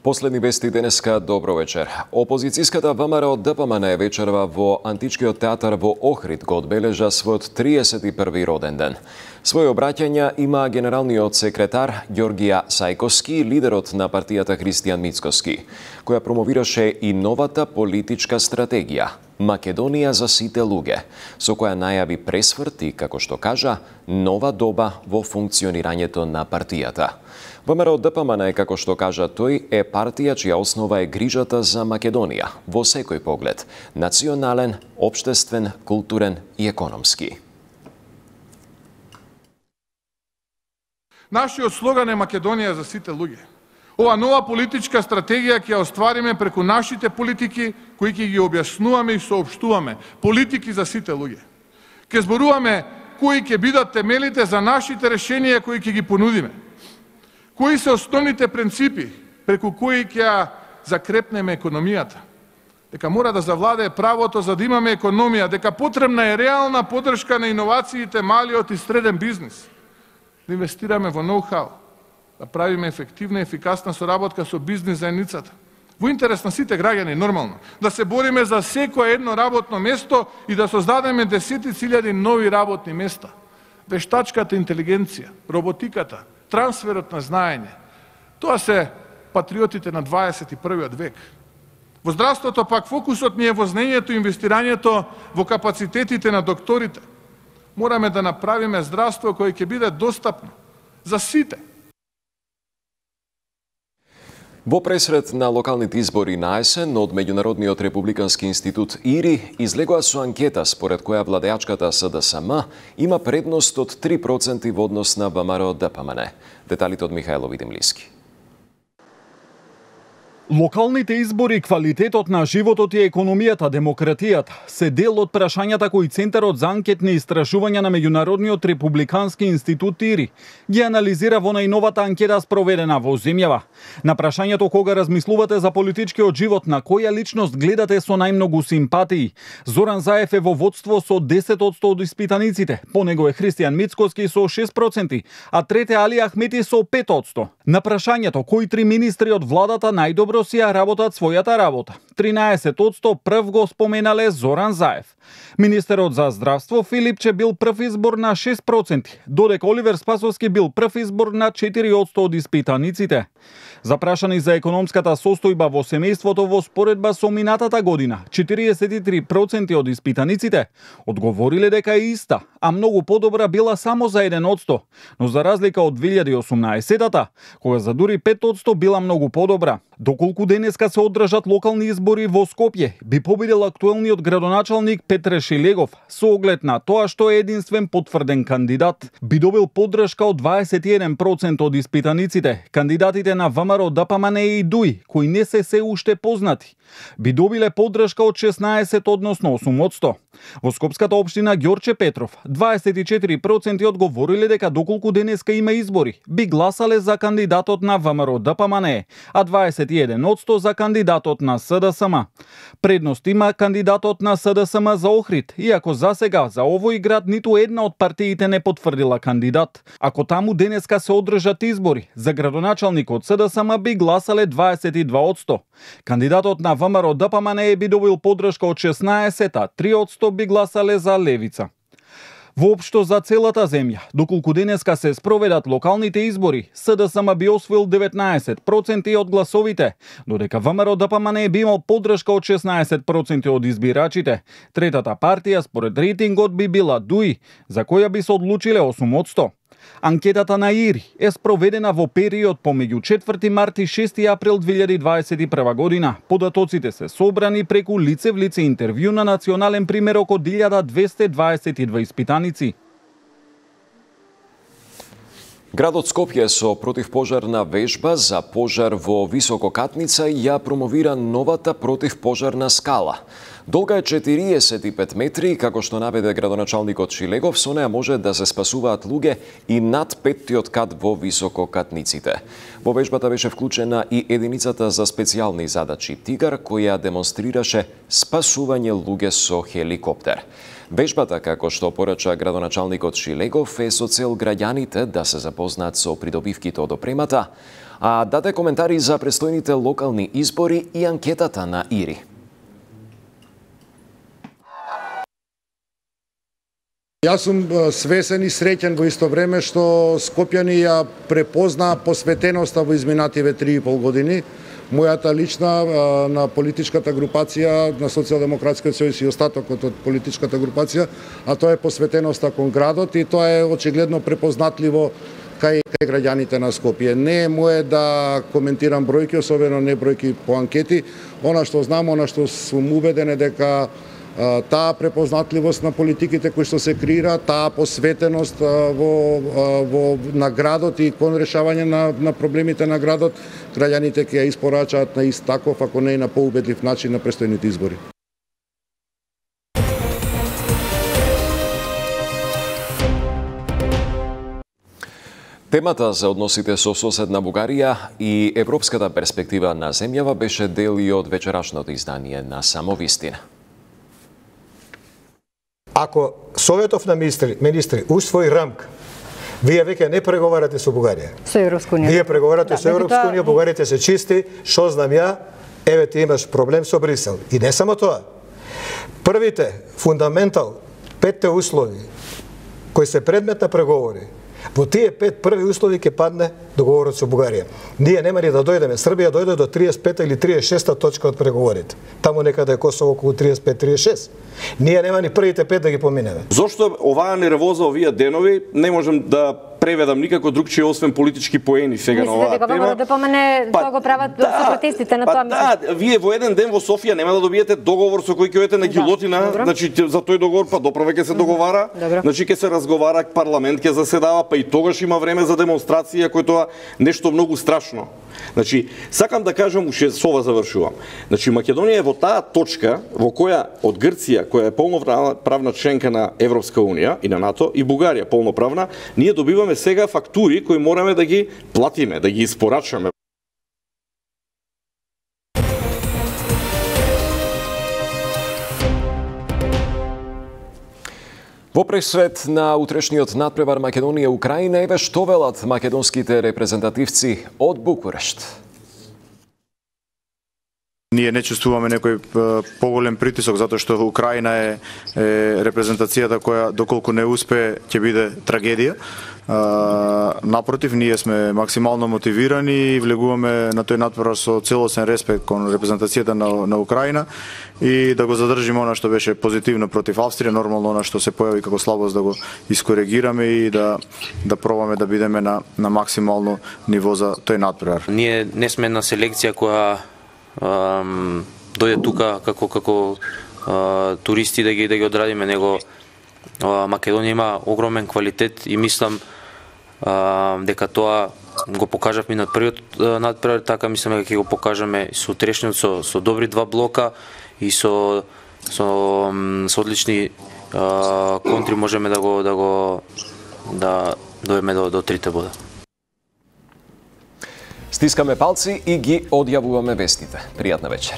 Последни вести денеска, добро вечер. Опозицијската ВМРО ДПМН вечерва во Античкиот театар во Охрид го одбележа својот 31 роден ден. Своје обраќања има генералниот секретар Ѓоргија Сајковски, лидерот на партијата Христијан Мицкоски, која промовираше и новата политичка стратегија Македонија за сите луѓе, со која најави пресврт и, како што кажа, нова доба во функционирањето на партијата. ВМРО ДПМН, како што кажа тој, е партија чија основа е грижата за Македонија во секој поглед – национален, општествен, културен и економски. Нашиот слоган е Македонија за сите луѓе. Ова нова политичка стратегија ќе ја оствариме преку нашите политики, кои ќе ги објаснуваме и соопштуваме. Политики за сите луѓе. Ќе зборуваме кои ќе бидат темелите за нашите решенија кои ќе ги понудиме. Кои се основните принципи преку кои ќе ја закрепнеме економијата? Дека мора да завладее правото за да имаме економија, дека потребна е реална поддршка на иновациите, малиот и среден бизнис. Да инвестираме во ноу-хау, да правиме ефективна и ефикасна соработка со бизнис заедницата. Во интерес на сите граѓани, нормално. Да се бориме за секое едно работно место и да создадеме десетици илјади нови работни места. Вештачката интелигенција, роботиката, трансферот на знаење. Тоа се патриотите на 21. век. Во здравството пак фокусот ни е во знаењето и инвестирањето во капацитетите на докторите. Мораме да направиме здравство кое ќе биде достапно за сите. Во пресред на локалните избори на есен од Меѓународниот републикански институт ИРИ излегоа со анкета според која владеачката СДСМ има предност од 3% во однос на ВМРО ДПМН. Деталите од Михајло Видимлиски. Локалните избори, квалитетот на животот и економијата, демократијата се дел од прашањата кои Центарот за анкетни истражувања на Меѓународниот републикански институт ИРИ ги анализира во најновата анкета спроведена во земјава. На прашањето кога размислувате за политичкиот живот, на која личност гледате со најмногу симпатии, Зоран Заев е во водство со 10% од испитаниците, по него е Христијан Мицкоски со 6%, а трете Али Ахмети со 5%. На прашањето кои три министри од владата најдобро си ја работат својата работа, 13% прв го споменале Зоран Заев. Министерот за здравство Филипче бил прв избор на 6%, додека Оливер Спасовски бил прв избор на 4% од испитаниците. Запрашани за економската состојба во семејството во споредба со минатата година, 43% од испитаниците одговориле дека е иста, а многу подобра била само за 1%, но за разлика од 2018-та, кога за дури 5% била многу подобра. Доколку денеска се одржат локални избори во Скопје, би победил актуелниот градоначалник Петре Шилегов со оглед на тоа што е единствен потврден кандидат. Би добил поддршка од 21% од испитаниците. Кандидатите на ВМРО ДПМН и ДУИ, кои не се уште познати, би добиле поддршка од 16 односно 8%. Во Скопската општина Ѓорче Петров, 24% одговориле дека доколку денеска има избори, би гласале за кандидатот на ВМРО ДПМН, а 21% за кандидатот на СДСМ. Предност има кандидатот на СДСМ за Охрид, иако засега за овој град ниту една од партиите не потврдила кандидат. Ако таму денеска се одржат избори, за градоначалникот СДСМ би гласале 22%. Кандидатот на ВМРО ДПМН би добил поддршка од 16%, а 3% би гласале за Левица. Воопшто за целата земја, доколку денеска се спроведат локалните избори, СДСМ би освоил 19% од гласовите, додека ВМРО ДПМН би имал поддршка од 16% од избирачите. Третата партија според рейтингот би била ДУИ, за која би се одлучиле 8%. Анкетата на ИРИ е спроведена во период помеѓу 4 март и 6 април 2021 година. Податоците се собрани преку лице в лице интервју на национален примерок од 1222 испитаници. Градот Скопје со противпожарна вежба за пожар во висококатница ја промовира новата противпожарна скала. Долга е 45 метри, како што наведе градоначалникот Шилегов, со неа може да се спасуваат луѓе и над 5-тиот кат во висококатниците. Во вежбата беше вклучена и единицата за специјални задачи Тигар, која демонстрираше спасување луѓе со хеликоптер. Вежбата, како што порача градоначалникот Шилегов, е со цел граѓаните да се запознаат со придобивките од опремата, а даде коментари за престојните локални избори и анкетата на ИРИ. Јас сум свесен и среќен во исто време што скопјани ја препознаа посветеноста во изминативе 3,5 години. Мојата лична на политичката групација на Социјалдемократскиот сојуз и остатокот од политичката групација, а тоа е посветеноста кон градот и тоа е очигледно препознатливо кај граѓаните на Скопје. Не е мое да коментирам бројки, особено не бројки по анкети. Она што знам, она што сум убеден е дека таа препознатливост на политиките кои што се креира, таа посветеност на градот и кон решавање на проблемите на градот, граѓаните ќе ја испорачаат на ист таков, ако не и на поубедлив начин на престојните избори. Темата за односите со соседна Бугарија и европската перспектива на земјава беше дел и од вечерашното издание на Самовистина. Ако Советов на министри усвои рамка, вие веќе не преговарате со Бугарија. Со Европска унија. Вие преговарате со Европска унија, бугарите се чисти, што знам ја, еве ти имаш проблем со Брисел. И не само тоа. Првите, фундаментал, 5 услови, кои се предмет на преговори, во тие 5 први услови ќе падне договорот со Бугарија. Ние нема ни да дојдеме. Србија дојде до 35 или 36 точка од преговорите. Таму некаде е Косово околу 35-36. Ние нема ни првите 5 да ги поминеме. Зошто оваа нервоза овие денови не можам да преведам никако другчие освен политички поени сега на оваа тема. Мислите дека да помине тоа го прават сепаратистите на тоа место? Да, вие во еден ден во Софија нема да добиете договор со кој ќе одите на гилотина, значи за тој договор па доправе ќе се договара, значи ќе се разговара, парламент ќе заседава, па и тогаш има време за демонстрација, кој тоа нешто многу страшно. Значи, сакам да кажам, уште со ова завршувам. Значи, Македонија е во таа точка во која од Грција, која е полноправна членка на Европска унија и на НАТО, и Бугарија полноправна, ние добиваме сега фактури кои мораме да ги платиме, да ги испорачаме. Во пресред на утрешниот надпревар Македонија-Украина, еве што велат македонските репрезентативци од Букурешт. Ние не чувствуваме некој поголем притисок затоа што Украина е репрезентацијата која доколку не успее ќе биде трагедија. Напротив, ние сме максимално мотивирани и влегуваме на тој надпревар со целосен респект кон репрезентацијата на Украина и да го задржиме она што беше позитивно против Австрија, нормално она што се појави како слабост да го искоригираме и да пробаме да бидеме на максимално ниво за тој надпревар. Ние не сме една селекција која дојде тука како туристи да ги одрадиме, него Македонија има огромен квалитет и мислам дека тоа го покажавме на првиот надпревар, така мислам дека ќе го покажеме со утрешниот со добри два блока и со одлични контри можеме да дојдеме до 3 бода. Стискаме палци и ги одјавуваме вестите. Пријатна вечер.